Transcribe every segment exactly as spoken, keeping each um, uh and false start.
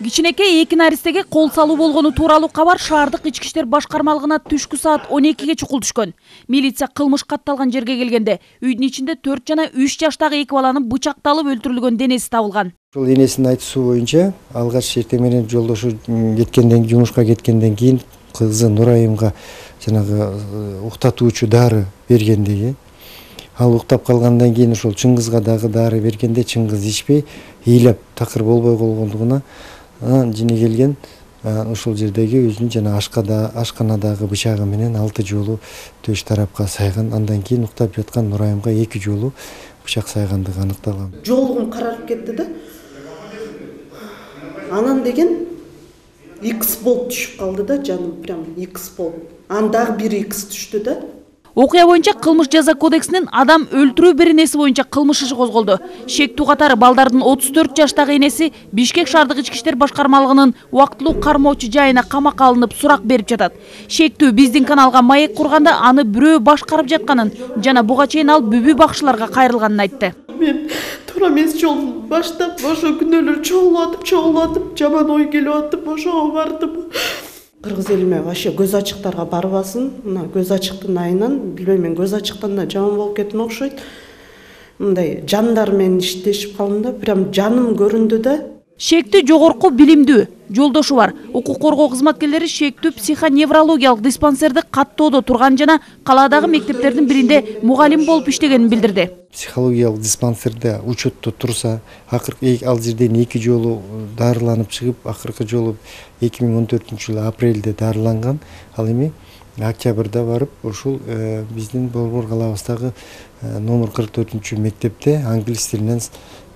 Кичинекей эки наристеге кол салуу болгону тууралуу кабар шаардык ички иштер башкармалыгына түшкү саат он экиге чукул түшкөн. Милиция кылмыш катталган жерге келгенде үйдүн ичинде төрт жана үч жаштагы эки баланын бычакталып өлтүрүлгөн денеси табылган. Ошол энесинин айтуусу боюнча алгач эртең менен жолдошу кеткенден жумушка кеткенден кийин кызы Нурайымга жанагы уктатуучу дары бергендиги. Ал уктап калгандан кийин ошол Чыңгызга дагы дары бергенде Чыңгыз ичпей, ыйлап такыр болбой калгандыгына жини келген ошол жердеги өзүнүн жана ашкада ашканадагы бычагы менен алты жолу төш тарапка сайган. Андан кийин уктап жаткан Нурайымга эки жолу бычак сайгандыгы аныкталган. Жолугум карарып кетти да. Анан деген икс болуп түшүп калды да, жаным прям икс болуп. Андагы бир икс түштү да. Окуя боюнча кылмыш жаза кодексинин адам өлтүрүү беренеси боюнча кылмыш иши козголду. Шектүү катары балдардын отуз төрт жаштагы энеси Бишкек шаардык ички иштер башкармалыгынын убактылуу кармоочу жайына камакка алынып сурак берип жатат. Шектүү биздин каналга маек курганда аны бирөө башкарып жатканын жана буга чейин ал бүбү бакчыларга кайрылганын айтты. Мен туура эмес жолун баштап, ошо күнөөлөр чогулуп атып, чогулуп атып, жаман ой келип атып, ошого бардым. Кыргыз элиме вообще көз ачыктарга барбасын. Мына көз ачыктын айынан билбейм, мен көз ачыктан да жаман болуп кеттим окшойт. Мындай жандар менен иштешип калдым да, прям жаным көрүндү да. Шектүү жогорку билимдүү жолдошу бар. Укук коргоо кызматкерлери Шектүү психоневрологиялык диспансерди каттоодо турган жана калаадагы мектептердин биринде мугалим болуп иштегенин билдирди. Психологиялык диспансерде учетто турса, акыркы ал жерден эки жолу дарыланып чыгып, акыркы жолу эки миң он төртүнчү жылы апрелде дарыланган. Ал эми октябрда барып, ушул биздин Борбор калабыздагы номер кырк төртүнчү мектепте англис тилинен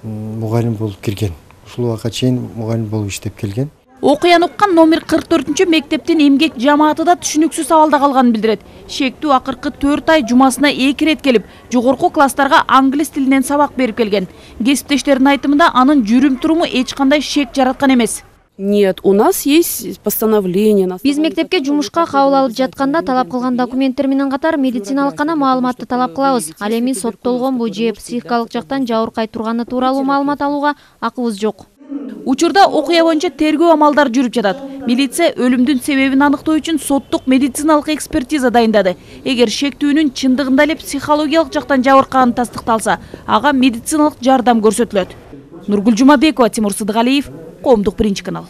мугалим болуп кирген. Ушул убакка чейин мугалим болуп иштеп келген. Окуяны уккан номер кырк төртүнчү мектептин эмгек жамааты да түшүнүксүз абалда калганын билдирет. Шектүү акыркы төрт ай жумасына эки рет келип, жогорку класстарга англис тилинен сабак берип келген. Кесиптештердин айтымында анын жүрүм-туруму эч кандай шек жараткан эмес. Нет, у нас есть постановление. Биз мектепке жумушка кабыл алып жатканда талап кылган документтер менен катар медициналык гана маалыматты талап кылабыз. Ал эми соттолгонбу же психикалык жактан жабыркай турганы тууралуу маалымат алууга акыбыз жок. Учурда окуя боюнча тергөө амалдары жүрүп жатат. Милиция өлүмдүн себебин аныктоо үчүн соттук медициналык экспертиза дайындады. Эгер Шектүүнүн чындыгында эле психологиялык жактан жабыркаганы тастыкталса, ага медициналык жардам көрсөтүлөт. Нургүл Жумабекова, Тимур Сыдыгалиев, Коомдук биринчи канал.